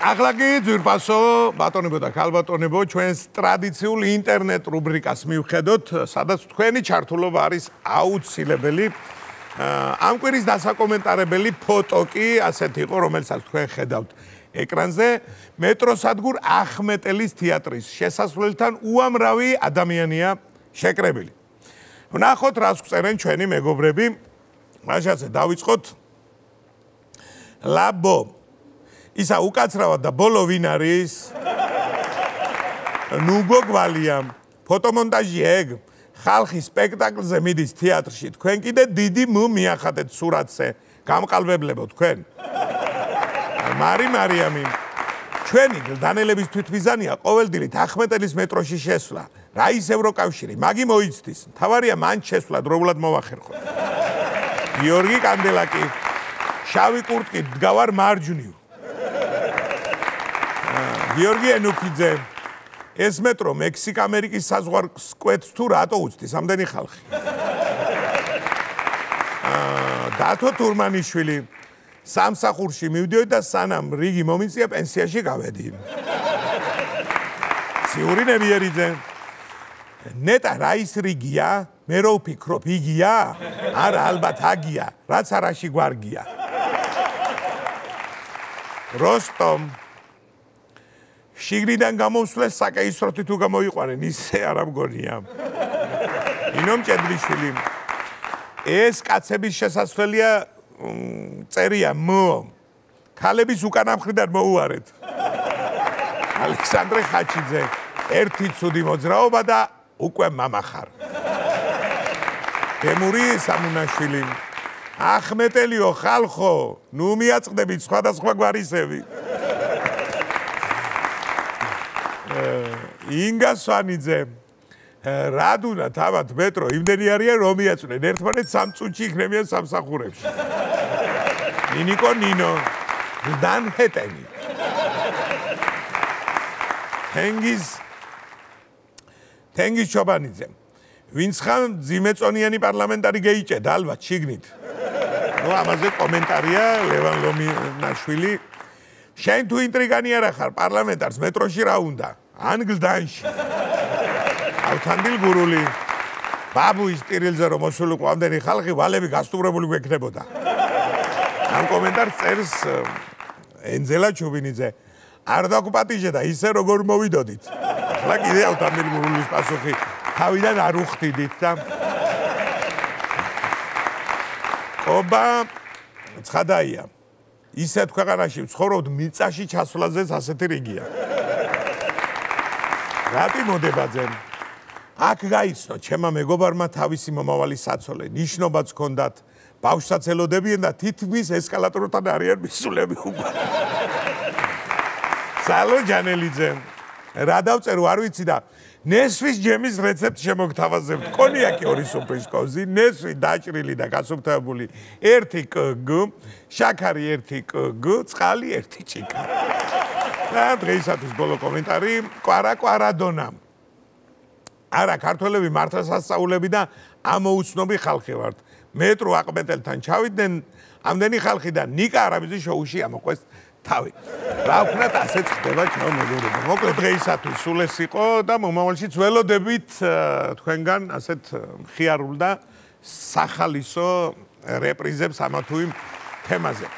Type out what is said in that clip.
ახლა კი ძვირფასო ბატონებო და ქალბატონებო ჩვენს ტრადიციულ ინტერნეტ რუბრიკას მივხედოთ, სადაც თქვენი ჩართულობა არის აუცილებელი. ამ კვირის დასაკომენტარებელი ფოტო კი ასეთი იყო, რომელსაც თქვენ ხედავთ ეკრანზე, მეტროსადგურ ახმეტელის თეატრის შესასვლელთან უამრავი ადამიანია შეკრებილი. ვნახოთ, რას გვწერენ ჩვენი მეგობრები. მაშასე დავიწყოთ. ლაბო ისა უკაცრავად და ბოლო ვინ არის? ნუ გოგვალია. ფოტომონტაჟი ეგ. ხალხი სპექტაკლზე მიდის თეატრში. თქვენ კიდე დიდი მიახატეთ სურათზე. გამყალბებლებო თქვენ. მარიამი. ჩვენი დანელების თვითმიზანია ყოველდღიურად ახმეტელის მეტროში შესვლა. რა ის ევროკავშირი, მაგი მოიცდის. თავარია მან შესვლა დროულად მოვახერხოთ. გიორგი კანდელაკი. შავი კურტკით დგავარ მარჯვნივ. გიორგი ენუქიძე. ეს მეტრო მექსიკა-ამერიკის საზღვარს კვეთს თუ რატო უცდის ამდენი ხალხი? დათო თურმანიშვილი. სამსახურში მივდიოდი და სანამ რიგი მომიწია პენსიაში გავედი. ციური ნებიერიძე. ნეტა რა ის რიგია? მე რო ვფიქრობ იგია? არა ალბათ აგია, რაც არაში გვარგია. როსტომ. შიგნიდან გამოსვლეს საკეისროთი თუ გამოიყვანენ, ისე არ ამგონია. ინო მჭედლიშვილი. ეს კაცების შესასვლელია წერია მო. ქალების უკანა მხრიდან მოუარეთ. ალექსანდრე ხაჩიძე. ერთი ცუდი მოძრაობა და უკვე მამახარ. თემური სამუნაშვილი. ახმეტელიო ხალხო, ნუ მიაწყდებით სხვადასხვა გვარისები. ინგა სვანიძე. რადუნა თავად მეტრო იმდენი არიან რომ მიაწვნენ ერთმანეთს 3 წუთში იქნებიან სამსახურებში. ნინიკო ნინო. დანჰეტენი. თენგიზ ჩობანიძე. ვინც ხან ძიმეწონიანი პარლამენტარი გეიჭედა ალბათ შიგნით. ნუ ამაზე კომენტარია ლევან ლომინაშვილი. შენ თუ ინტრიგანი არა ხარ პარლამენტარს მეტროში რა უნდა? ან გლდანში. ავთანდილ გურული. ბაბუის ტირილზე რომ მოსულიყო ამდენი ხალხი ვალები გასტუმრებული გვექნებოდა. ამ კომენტარს წერს ენძელა ჩუბინიძე. არ დაგუპატიჟე და ისე როგორ მოვიდოდით. ახლა კიდე ავთანდილ გურულის პასუხი. თავიდან არ უხდიდით და ობა ცხადაია. ისეთ ქვეყანაში ვცხოვრობთ მიწაში ჩასვლაზეც ასეთი რიგია. რატი მოდებაძე. აქ გაიცნო ჩემმა მეგობარმა თავისი მომავალი საცოლე. ნიშნობაც ჰქონდათ. ბავშვსაც ელოდებიან და თითქმის ესკალატორთან არიან მისულები უკვე. სალო ჯანელიძე. რა დავწერო არ ვიცი და ნესვის ჯემის რეცეპტი შემოგთავაზებთ. კონიაკი 2 სუფრის კოზი, ნესვი დაჭრილი და გასუფთავებული 1 კგ, შაქარი 1 კგ, წყალი 1 ჭიქა. და დღეისათვის ბოლო კომენტარი კვარადონამ. არა, ქართველები მართლაც ასწავლები და ამოუცნობი ხალხი ვართ. მეტრო ახმეტელთან ჩავიდნენ ამდენი ხალხი და ნიკა არაბიძის შოუში ამოყვეს თავი. რა ვქნათ, ასეც ხდება ჩვენ მეგობრებო. მოკლედ დღეისათვის სულ ეს იყო და მომავალშიც ველოდებით თქვენგან ასეთ მხიარულ და სახალისო რეპრიზებს ამა თუ იმ თემაზე.